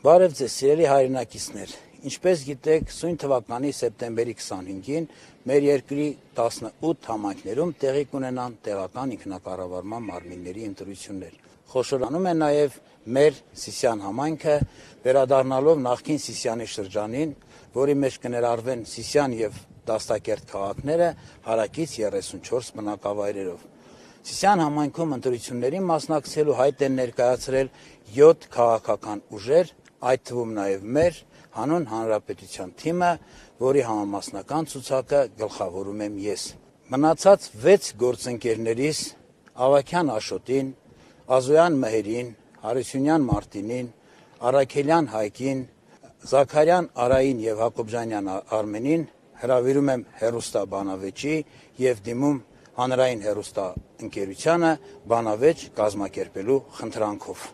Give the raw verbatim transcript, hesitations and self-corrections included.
Բարև ձեզ, սիրելի հայրենակիցներ, ինչպես գիտեք, սույն թվականի սեպտեմբերի քսանհինգին մեր երկրի տասնութ համայնքներում տեղի կունենան տեղական ինքնակառավարման մարմինների ընտրություններ։ Խոշորանում է նաև մեր Սիսիան համայնքը, վերադառնալով նախկին Սիսիանի շրջանին, որի մեջ կներառվեն Սիսիան և Դաստակերտ քաղաքները հարակից երեսունչորս բնակավայրերով։ Սիսիան համայնքում ընտրություններին մասնակցելու հայտ են ներկայացրել յոթ քաղաքական ուժեր, այդ թվում նաև մեր հանուն հանրապետության թիմը, որի համամասնական ցուցակը գլխավորում եմ ես։ Մնացած վեց գործընկերներիս Ավագյան Աշոտին, Ազոյան Մհերին, Հարությունյան Մարտինին, Առաքելյան Հայկին, Զաքարյան Արային և Հակոբյանյան Արմենին հրավիրում եմ հեռուստաբանավեճի և դիմում հանրային հեռուստաընկերությանը բանավեճ կազմակերպելու խնդրանքով։